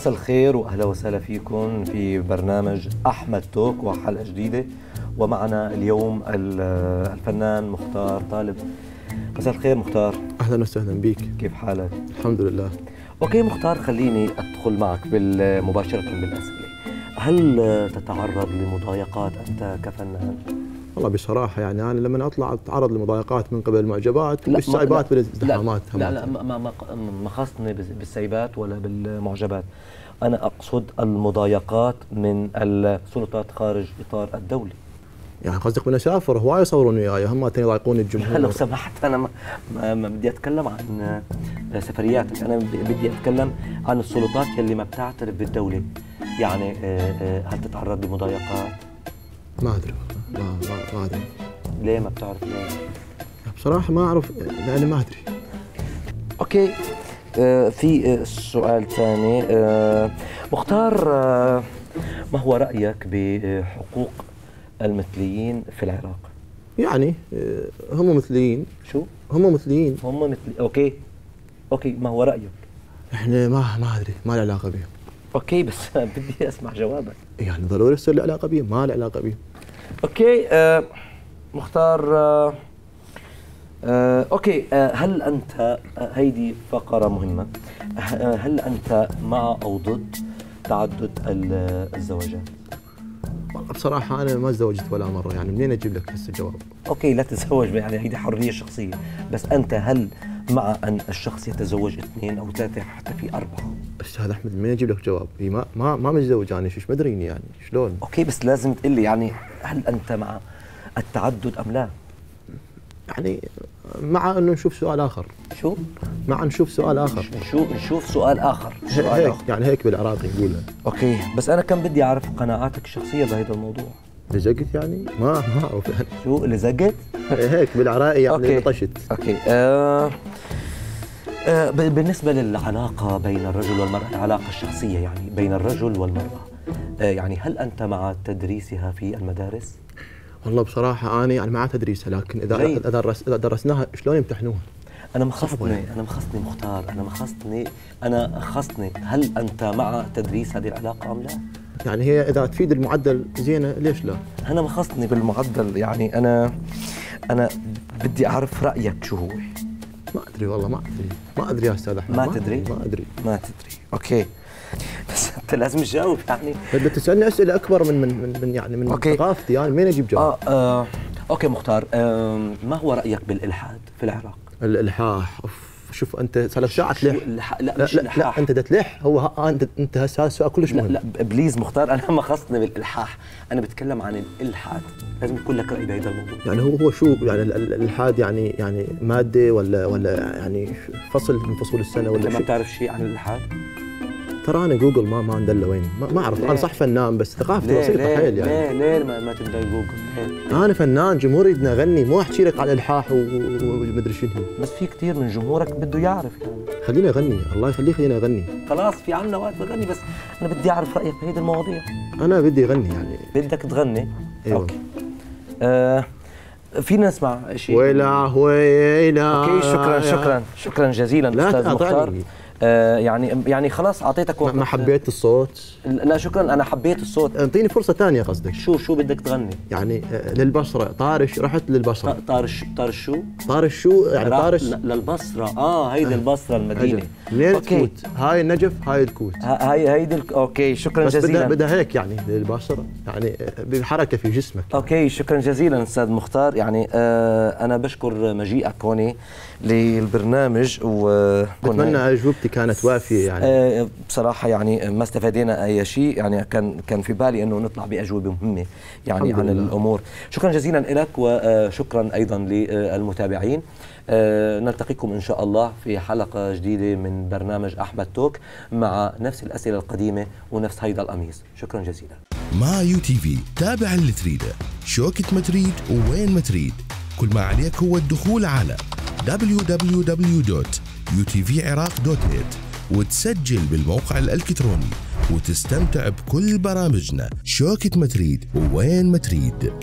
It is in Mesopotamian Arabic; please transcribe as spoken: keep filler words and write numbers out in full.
مساء الخير واهلا وسهلا فيكم في برنامج احمد توك وحلقه جديده، ومعنا اليوم الفنان مختار طالب. مساء الخير مختار. اهلا وسهلا بك. كيف حالك؟ الحمد لله. اوكي مختار، خليني ادخل معك مباشره بالاسئله. هل تتعرض لمضايقات انت كفنان؟ والله بصراحه يعني انا لما اطلع اتعرض لمضايقات من قبل المعجبات والسايبات بالازدحامات. لا لا, لا ما ما ما خاصني بالسايبات ولا بالمعجبات، انا اقصد المضايقات من السلطات خارج اطار الدولي. يعني قصدك من اسافر هواي يصورون وياي هم يضايقون الجمهور؟ لا لو سمحت، انا ما, ما, ما بدي اتكلم عن سفرياتك، انا بدي اتكلم عن السلطات يلي ما بتعترف بالدوله. يعني هل تتعرض لمضايقات؟ ما ادري ما ما ما ادري. ليه ما بتعرف ليه؟ بصراحه ما اعرف لاني ما ادري. اوكي آه في سؤال ثاني. آه مختار، آه ما هو رايك بحقوق المثليين في العراق؟ يعني هم مثليين. شو؟ هم مثليين. هم مثلي. اوكي اوكي ما هو رايك؟ احنا ما ما ادري، ما له علاقه بهم. اوكي بس بدي اسمع جوابك. يعني ضروري يصير له علاقه بهم؟ ما له علاقه بهم. اوكي آه مختار، آه آه اوكي آه هل انت آه هيدي فقره مهمه، آه هل انت مع او ضد تعدد الزواجات؟ بصراحه انا ما تزوجت ولا مره، يعني منين اجيب لك هسه الجواب؟ اوكي لا تتزوج، يعني هيدي حريه شخصيه، بس انت هل مع ان الشخص يتزوج اثنين او ثلاثه حتى في اربعه؟ استاذ احمد منين اجيب لك جواب؟ ما ما ما متزوج انا، شو مدريني يعني شلون؟ اوكي بس لازم تقول لي يعني هل انت مع التعدد ام لا؟ يعني مع انه نشوف سؤال اخر. شو؟ مع نشوف سؤال اخر. نشوف نشوف سؤال اخر. سؤال هيك آخر. يعني هيك بالعراقي نقولها. اوكي بس انا كان بدي اعرف قناعاتك الشخصيه بهذا الموضوع. لزقت يعني؟ ما ما اعرف يعني. شو لزقت؟ هيك بالعراقي يعني لطشت. اوكي آه آه بالنسبه للعلاقه بين الرجل والمراه، العلاقه الشخصيه يعني بين الرجل والمراه، آه يعني هل انت مع تدريسها في المدارس؟ والله بصراحه انا يعني مع تدريسها، لكن اذا اذا درس اذا درسناها شلون يمتحنوها؟ انا مخصني انا مخصني مختار، انا مخصني انا خصني هل انت مع تدريس هذه العلاقه ام لا؟ يعني هي اذا تفيد المعدل زينه ليش لا؟ انا مخصني بالمعدل، يعني انا انا بدي اعرف رايك شو هو. ما ادري والله ما ادري ما ادري يا استاذ احمد. ما, ما تدري؟ ما ادري ما تدري. اوكي بس انت لازم تجاوب يعني. بدك تسالني اسئله اكبر من من من يعني من أوكي. ثقافتي، يعني منين اجيب جواب؟ آه, اه اوكي مختار، آه ما هو رايك بالالحاد في العراق؟ الالحاح اوف، شوف انت صار لك ساعه تلح. لا, لا مش لا, لا انت تلح. هو ها انت انت هسه السؤال كلش مهم. لا, لا بليز مختار، انا ما خصني بالالحاح، انا بتكلم عن الالحاد، لازم يكون لك راي بهذا الموضوع. يعني هو هو شو يعني الالحاد؟ يعني يعني ماده ولا ولا يعني فصل من فصول السنه ولا انت ما بتعرف شيء عن الالحاد؟ ترى انا جوجل ما ما ندله وين، ما, ما اعرف. انا صح فنان بس ثقافتي بسيطه حيل يعني. ليه ليه ما, ما تندل جوجل؟ ليه؟ انا فنان، جمهوري بدنا اغني، مو احكي لك على الالحاح ومدري شنو. بس في كثير من جمهورك بده يعرف يعني. خليني اغني، الله يخليك خليني اغني. خلاص في عنا وقت بغني، بس انا بدي اعرف رايك بهيدي المواضيع. انا بدي اغني يعني. بدك تغني؟ ايوه. اوكي آه فينا نسمع شيء؟ ويلا ويلا. اوكي شكرا شكرا شكرا جزيلا استاذ مختار. آه يعني يعني خلاص اعطيتك وقت. ما حبيت الصوت؟ لا شكرا، انا حبيت الصوت. انطيني فرصه ثانيه قصدك؟ شو شو بدك تغني؟ يعني للبصره، طارش رحت للبصره. طارش طارش شو؟ طارش شو يعني؟ طارش للبصره. اه هيدي البصره المدينه. منين الكوت؟ هاي النجف هاي الكوت. هاي هيدي ال... اوكي شكرا بس جزيلا. بس بدها هيك يعني للبصره، يعني بحركه في جسمك. اوكي شكرا جزيلا استاذ مختار، يعني آه انا بشكر مجيئك هون للبرنامج، وبتمنى اجوبتي كانت وافيه يعني. آه بصراحه يعني ما استفادينا اي شيء، يعني كان كان في بالي انه نطلع باجوبه مهمه يعني عن لله. الامور. شكرا جزيلا لك، وشكرا ايضا للمتابعين. آه نلتقيكم ان شاء الله في حلقه جديده من برنامج احمد توك مع نفس الاسئله القديمه ونفس هيدا القميص. شكرا جزيلا. مع يو تي في تابع اللي تريده، شوكة ما تريد ووين ما تريد. كل ما عليك هو الدخول على دبليو دبليو دبليو دوت يو تي في عراق دوت نت وتسجل بالموقع الإلكتروني وتستمتع بكل برامجنا. شوكة ما تريد ووين ما تريد.